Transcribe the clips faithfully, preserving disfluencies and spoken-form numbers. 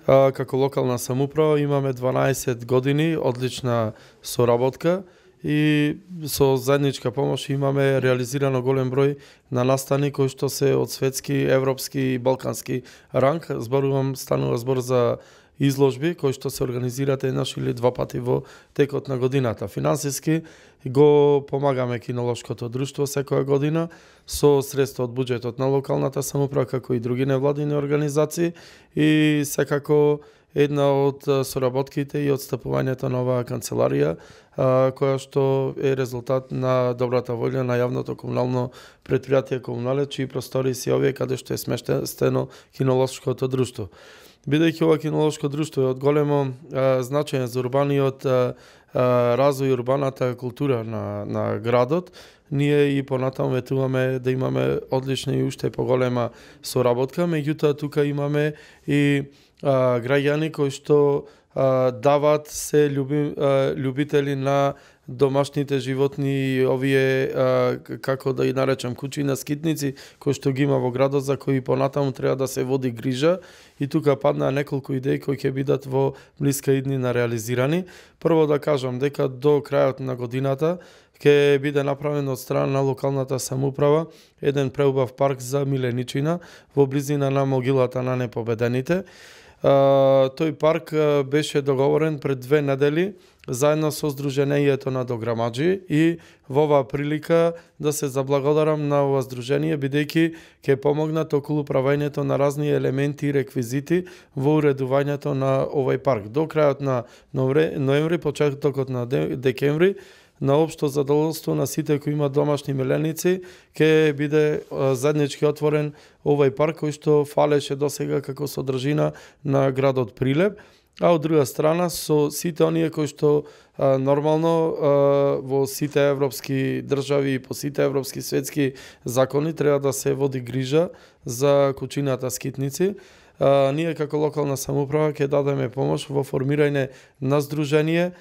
А, како локална самоуправа имаме дванаесет години одлична соработка и со заедничка помош имаме реализирано голем број на настани кои што се од светски, европски и балкански ранг. Зборувам, станува збор за изложби кои што се организираат еднаш или два пати во текот на годината. Финансиски го помагаме кинолошкото друштво секоја година со средства од буџетот на локалната самоуправа, како и други невладини организации, и секако една од соработките и отстапувањето на оваа канцеларија, која што е резултат на добрата волја на јавното комунално претпријатие Комуналец, чии простори се овие каде што е смештено кинолошкото друштво. Бидејќи ова кинолошко друштво е од големо а, значење за урбаниот а, а, развој и урбаната култура на, на градот, ние и понатаму ветуваме да имаме одлична и уште поголема соработка, меѓутоа тука имаме и а, граѓани кои што а, дават се љуби, а, љубители на домашните животни, овие, а, како да и наречам, кучи на скитници, кои што ги има во градот, за кои понатаму треба да се води грижа, и тука паднаа неколку идеи кои ќе бидат во блиска иднина реализирани. Прво да кажам дека до крајот на годината ќе биде направен од страна на локалната самоуправа еден преубав парк за Миленичина во близина на могилата на непобедените. Uh, тој парк uh, беше договорен пред две недели заедно со Сдруженијето на дограмаджи, и во оваа прилика да се заблагодарам на ова здружение, бидејќи ќе помогнат околу правењето на разни елементи и реквизити во уредувањето на овој парк. До крајот на ноември, почетокот на декември, на општо задоволство на сите кои имаат домашни миленици, ќе биде заеднички отворен овој парк кој што фалеше досега како содржина на градот Прилеп, а од друга страна со сите оние кои што а, нормално а, во сите европски држави и по сите европски светски закони треба да се води грижа за кучината скитници. А, ние како локална самоуправа ќе дадеме помош во формирање на здружение,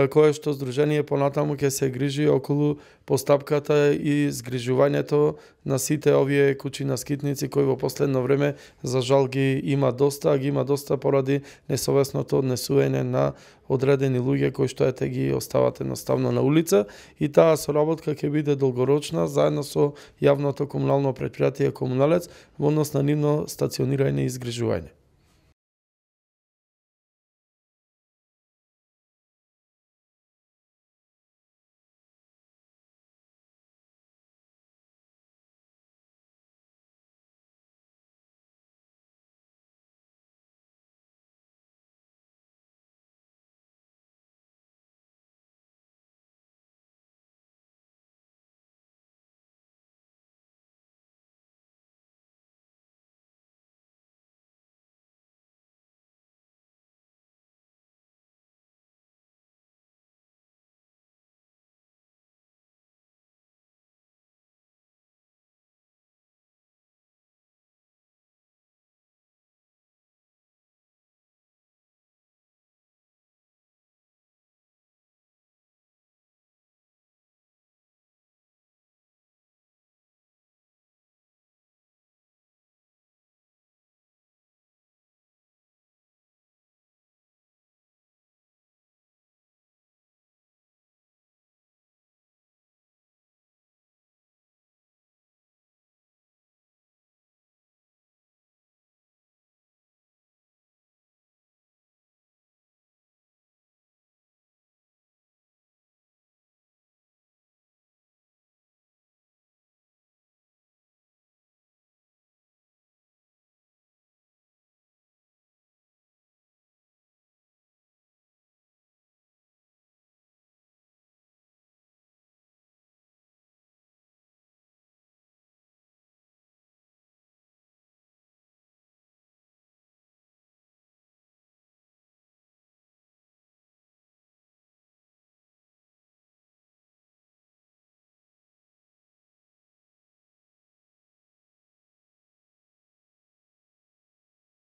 кое што здружение понатаму ќе се грижи околу постапката и згрижувањето на сите овие кучи на скитници кои во последно време за жал ги има доста, а ги има доста поради несовесното однесување на одредени луѓе кои што ете ги остават едноставно на улица, и таа соработка ќе биде долгорочна заедно со јавното комунално претпријатие Комуналец во однос на нивно стационирање и згрижување.